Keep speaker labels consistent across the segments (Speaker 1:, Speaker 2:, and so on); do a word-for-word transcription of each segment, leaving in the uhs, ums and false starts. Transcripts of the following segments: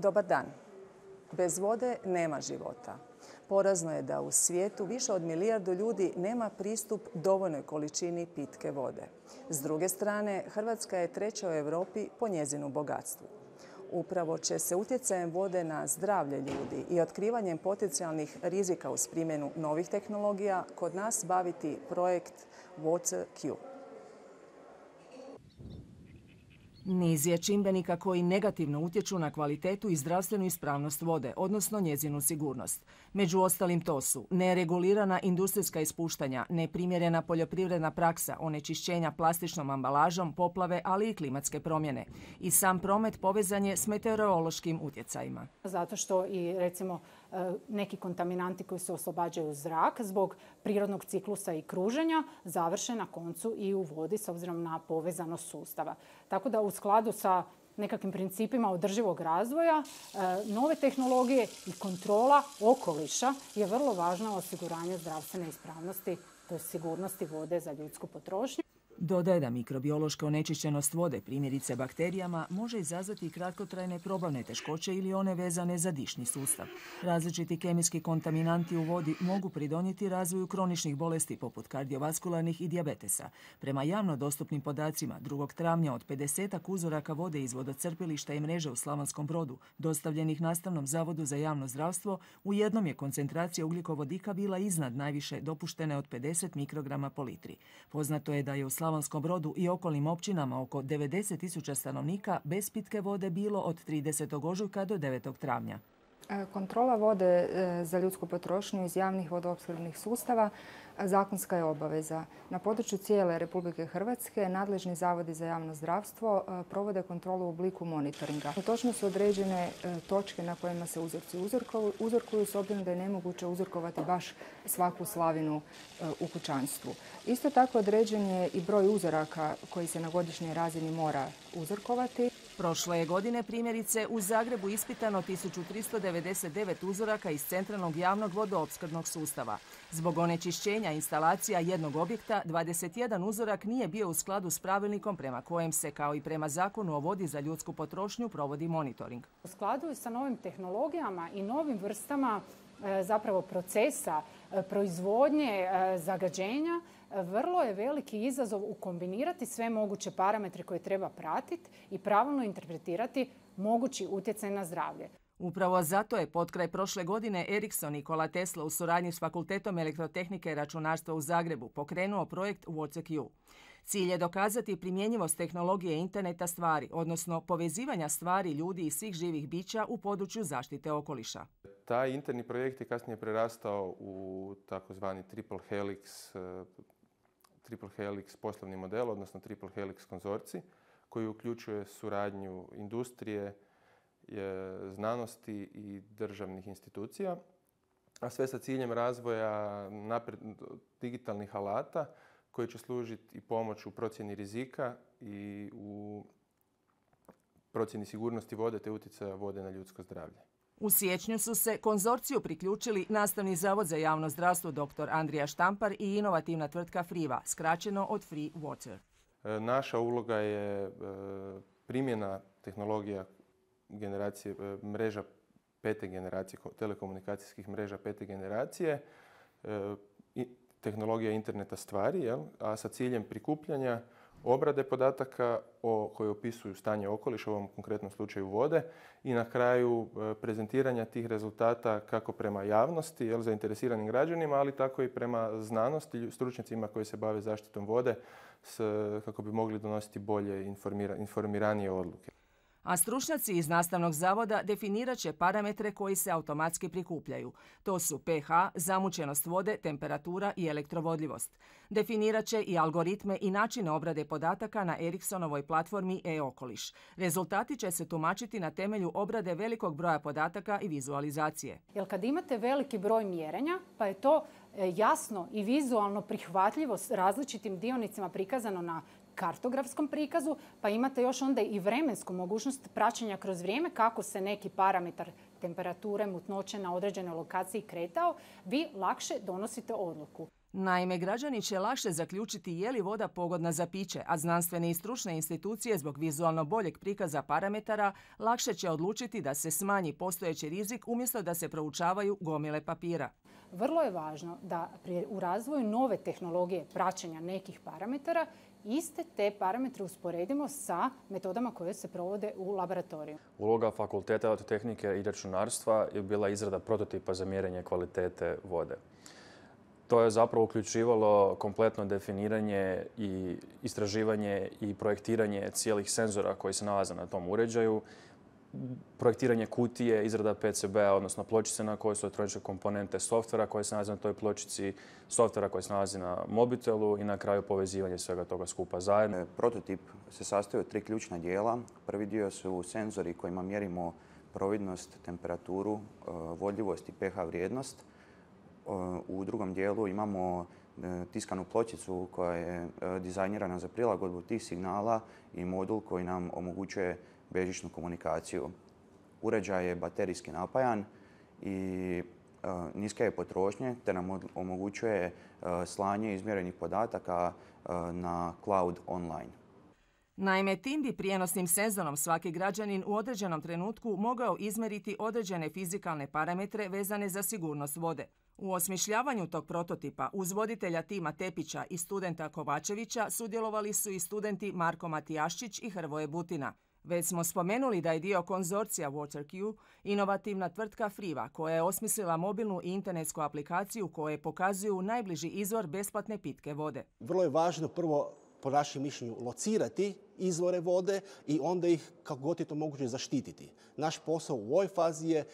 Speaker 1: Dobar dan. Bez vode nema života. Porazno je da u svijetu više od milijardu ljudi nema pristup dovoljnoj količini pitke vode. S druge strane, Hrvatska je treća u Europi po njezinu bogatstvu. Upravo će se utjecajem vode na zdravlje ljudi i otkrivanjem potencijalnih rizika uz primjenu novih tehnologija kod nas baviti projekt WaterQ.
Speaker 2: Niz je čimbenika koji negativno utječu na kvalitetu i zdravstvenu ispravnost vode, odnosno njezinu sigurnost. Među ostalim to su neregulirana industrijska ispuštanja, neprimjerena poljoprivredna praksa, onečišćenja plastičnom ambalažom, poplave, ali i klimatske promjene. I sam promet povezan je s meteorološkim utjecajima.
Speaker 3: Zato što i recimo neki kontaminanti koji se oslobađaju u zrak zbog prirodnog ciklusa i kruženja završe na koncu i u vodi s obzirom na povezanost sustava. Tako da u skladu sa nekakvim principima održivog razvoja, nove tehnologije i kontrola okoliša je vrlo važna osiguranje zdravstvene ispravnosti, to je sigurnosti vode za ljudsku potrošnju.
Speaker 2: Dodaje da mikrobiološka onečišćenost vode, primjerice bakterijama, može izazvati i kratkotrajne probavne teškoće ili one vezane za dišni sustav. Različiti kemijski kontaminanti u vodi mogu pridonijeti razvoju kroničnih bolesti poput kardiovaskularnih i dijabetesa. Prema javno dostupnim podacima, drugog travnja od pedesetak uzoraka vode iz vodocrpilišta i mreže u Slavonskom Brodu, dostavljenih Nastavnom zavodu za javno zdravstvo, u jednom je koncentracija ugljikovodika bila iznad najviše dopuštene od pedeset mikrograma po litri. Poznato je da je u Slavonskom Brodu i okolnim općinama oko devedeset tisuća stanovnika bez pitke vode bilo od tridesetog ožujka do devetog travnja.
Speaker 4: Kontrola vode za ljudsku potrošnju iz javnih vodoopskrbnih sustava zakonska je obaveza. Na području cijele Republike Hrvatske nadležni zavodi za javno zdravstvo provode kontrolu u obliku monitoringa. Točno su određene točke na kojima se uzorci uzorkuju s obzirom da je nemoguće uzorkovati baš svaku slavinu u kućanstvu. Isto tako određen je i broj uzoraka koji se na godišnjoj razini mora uzorkovati.
Speaker 2: Prošle je godine primjerice u Zagrebu ispitano tisuću tristo devedeset devet uzoraka iz centralnog javnog vodoopskrbnog sustava. Zbog onečišćenja instalacija jednog objekta, dvadeset jedan uzorak nije bio u skladu s pravilnikom prema kojem se, kao i prema Zakonu o vodi za ljudsku potrošnju, provodi monitoring.
Speaker 3: U skladu sa novim tehnologijama i novim vrstama zapravo procesa proizvodnje zagađenja, vrlo je veliki izazov ukombinirati sve moguće parametre koje treba pratiti i pravilno interpretirati mogući utjecaj na zdravlje.
Speaker 2: Upravo zato je potkraj prošle godine Ericsson Nikola Tesla u suradnji s Fakultetom elektrotehnike i računarstva u Zagrebu pokrenuo projekt WaterQ. Cilj je dokazati primjenjivost tehnologije interneta stvari, odnosno povezivanja stvari, ljudi i svih živih bića u području zaštite okoliša.
Speaker 5: Taj interni projekt je kasnije prerastao u takozvani triple helix, triple helix poslovni model, odnosno triple helix konzorcij, koji uključuje suradnju industrije, znanosti i državnih institucija, a sve sa ciljem razvoja napred, digitalnih alata koji će služiti i pomoć u procjeni rizika i u procjeni sigurnosti vode te utjecaja vode na ljudsko zdravlje.
Speaker 2: U siječnju su se konzorciju priključili Nastavni zavod za javno zdravstvo dr. Andrija Štampar i inovativna tvrtka Friva, skraćeno od Free Water.
Speaker 5: Naša uloga je primjena tehnologija generacije mreža pete generacije, telekomunikacijskih mreža pete generacije, tehnologija interneta stvari, jel? A sa ciljem prikupljanja, obrade podataka o, koji opisuju stanje okoliša, u ovom konkretnom slučaju vode, i na kraju prezentiranja tih rezultata kako prema javnosti, jel, zainteresiranim građanima, ali tako i prema znanosti, stručnjacima koji se bave zaštitom vode, s, kako bi mogli donositi bolje informira, informiranije odluke.
Speaker 2: A stručnjaci iz Nastavnog zavoda definirat će parametre koji se automatski prikupljaju. To su pH, zamućenost vode, temperatura i elektrovodljivost. Definirat će i algoritme i načine obrade podataka na Ericssonovoj platformi e-okoliš. Rezultati će se tumačiti na temelju obrade velikog broja podataka i vizualizacije.
Speaker 3: Jer kad imate veliki broj mjerenja, pa je to jasno i vizualno prihvatljivo s različitim dionicima prikazano na kartografskom prikazu, pa imate još onda i vremensku mogućnost praćenja kroz vrijeme kako se neki parametar temperature, mutnoće na određenoj lokaciji kretao, vi lakše donosite odluku.
Speaker 2: Naime, građani će lakše zaključiti je li voda pogodna za piće, a znanstvene i stručne institucije zbog vizualno boljeg prikaza parametara lakše će odlučiti da se smanji postojeći rizik umjesto da se proučavaju gomile papira.
Speaker 3: Vrlo je važno da u razvoju nove tehnologije praćenja nekih parametara iste te parametre usporedimo sa metodama koje se provode u laboratoriju.
Speaker 6: Uloga Fakulteta elektrotehnike i računarstva je bila izrada prototipa za mjerenje kvalitete vode. To je zapravo uključivalo kompletno definiranje i istraživanje i projektiranje cijelih senzora koji se nalaze na tom uređaju, projektiranje kutije, izrada P C B-a, odnosno pločice na kojoj su elektroničke komponente, softvera koji se nalazi na toj pločici, softvera koji se nalazi na mobitelu i na kraju povezivanje svega toga skupa zajedno.
Speaker 7: Prototip se sastoji od tri ključna dijela. Prvi dio su senzori kojima mjerimo providnost, temperaturu, vodljivost i pH vrijednost. U drugom dijelu imamo tiskanu pločicu koja je dizajnirana za prilagodbu tih signala i modul koji nam omogućuje bežičnu komunikaciju. Uređaj je baterijski napajan i niske je potrošnje te nam omogućuje slanje izmjerenih podataka na cloud online.
Speaker 2: Naime, tim bi prijenosnim senzorom svaki građanin u određenom trenutku mogao izmjeriti određene fizikalne parametre vezane za sigurnost vode. U osmišljavanju tog prototipa uz voditelja tima Tepića i studenta Kovačevića sudjelovali su i studenti Marko Matijaščić i Hrvoje Butina. Već smo spomenuli da je dio konzorcija WaterQ inovativna tvrtka Friva koja je osmislila mobilnu i internetsku aplikaciju koje pokazuju najbliži izvor besplatne pitke vode.
Speaker 8: Vrlo je važno prvo, po našem mišljenju, locirati izvore vode i onda ih kako god je to moguće zaštititi. Naš posao u ovoj fazi je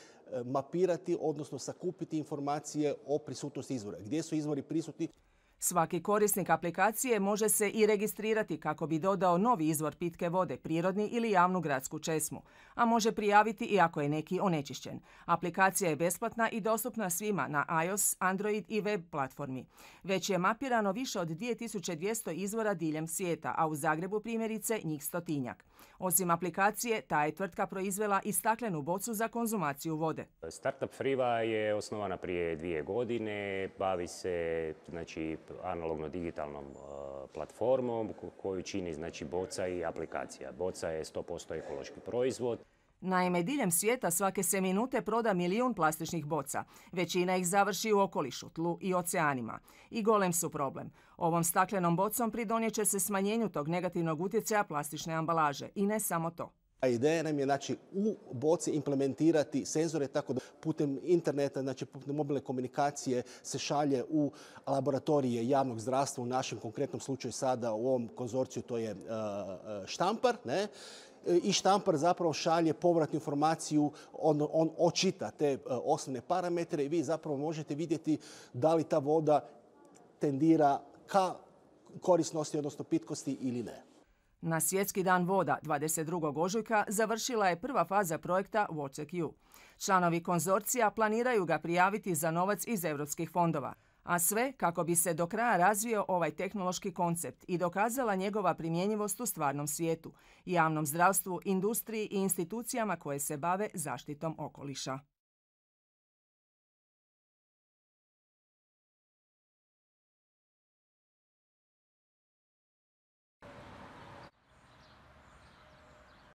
Speaker 8: mapirati, odnosno sakupiti informacije o prisutnosti izvora. Gdje su izvori prisutni?
Speaker 2: Svaki korisnik aplikacije može se i registrirati kako bi dodao novi izvor pitke vode, prirodni ili javnu gradsku česmu, a može prijaviti i ako je neki onečišćen. Aplikacija je besplatna i dostupna svima na iOS, Android i web platformi. Već je mapirano više od dvije tisuće dvjesto izvora diljem svijeta, a u Zagrebu primjerice njih stotinjak. Osim aplikacije, ta je tvrtka proizvela i staklenu bocu za konzumaciju vode.
Speaker 9: Startup Friva je osnovana prije dvije godine, bavi se znači, analogno-digitalnom uh, platformom koju čini znači, boca i aplikacija. Boca je sto posto ekološki proizvod.
Speaker 2: Naime, diljem svijeta svake se minute proda milijun plastičnih boca. Većina ih završi u okolišu, tlu i oceanima. I golem su problem. Ovom staklenom bocom pridonijet će se smanjenju tog negativnog utjecaja plastične ambalaže. I ne samo to.
Speaker 8: A ideja nam je znači, u boci implementirati senzore tako da putem interneta, znači putem mobilne komunikacije se šalje u laboratorije javnog zdravstva, u našem konkretnom slučaju sada u ovom konzorciju to je uh, štampar, ne? I štampar zapravo šalje povratnu informaciju, on, on očita te uh, osnovne parametre i vi zapravo možete vidjeti da li ta voda tendira ka korisnosti, odnosno pitkosti ili ne.
Speaker 2: Na Svjetski dan voda dvadeset drugog ožujka završila je prva faza projekta WaterQ. Članovi konzorcija planiraju ga prijaviti za novac iz europskih fondova, a sve kako bi se do kraja razvio ovaj tehnološki koncept i dokazala njegova primjenjivost u stvarnom svijetu, javnom zdravstvu, industriji i institucijama koje se bave zaštitom okoliša.